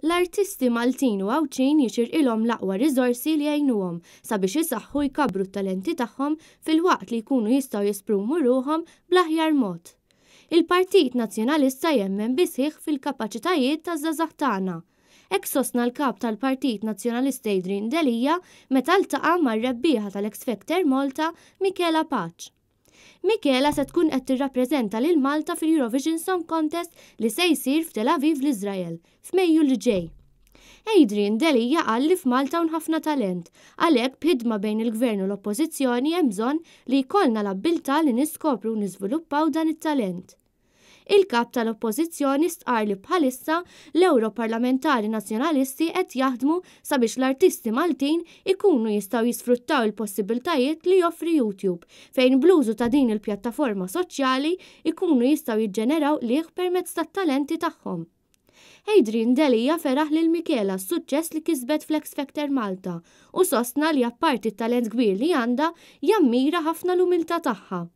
L-artisti Maltin u Għawdxin jixirqilhom l-aqwa riżorsi li jgħinuhom sabiex isaħħu u jkabbru t-talenti tagħhom filwaqt li jkunu jistgħu jesprumu ruħhom bl-aħjar mod. Il-Partit Nazzjonalista jemmen bi sħiħ fil-kapaċitajiet taż-żgħażagħ tagħna. Hekk sostna l-Kap tal-Partit Nazzjonalista Adrian Delia meta ltaqa' mar-rebbieħa tal-X Factor Malta Michela Pace. Michela se tkun qed tirrappreżenta lil Malta fil-Eurovision Song Contest li se jsir f'Tel Aviv l-Iżrael, f'Mejju li ġej. Adrian Delia qal li f'Malta hawn ħafna talent, għalhekk b'ħidma bejn il-Gvern u l-Oppożizzjoni hemm bżonn li jkollna l-abbiltà li niskopru u niżviluppaw dan it-talent. Il-Kap tal-Oppożizzjoni stqarr li bħalissa l-Ewroparlamentari Nazzjonalisti qed jaħdmu sabiex l-artisti Maltin ikunu jistgħu jisfruttaw il-possibbiltajiet li joffri YouTube fejn bl-użu ta' din il-pjattaforma soċjali jkunu jistgħu jiġġeneraw qligħ permezz tat-talenti tagħhom. Adrian Delia feraħ lil Michela għas-suċċess li kisbet fl-X Factor Malta u sostna li apparti t-talent kbir li għandha, jammira ħafna l-umiltà tagħha.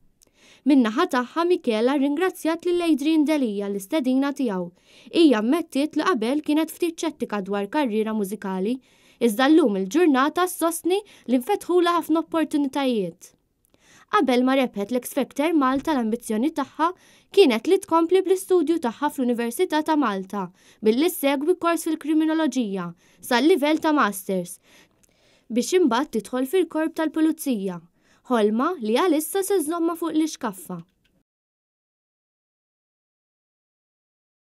Min-naħa tagħha Michela rringrazzjat lil Adrian Delia għall-istedina tiegħu. Hija ammettiet li qabel kienet ftit ċettika dwar karriera mużikali, iżda llum il-ġurnata ssostni li nfetħulha ħafna opportunitajiet. Qabel ma rebħet l-X Factor Malta l-ambizzjoni tagħha kienet li tkompli bl-istudju tagħha fl-Università ta' Malta billi ssegwi kors fil-Kriminoloġija sal-livell ta' Masters biex imbagħad tidħol fil-Korp tal-Pulizija, ħolma li għalissa se żżommha fuq l-ixkaffa.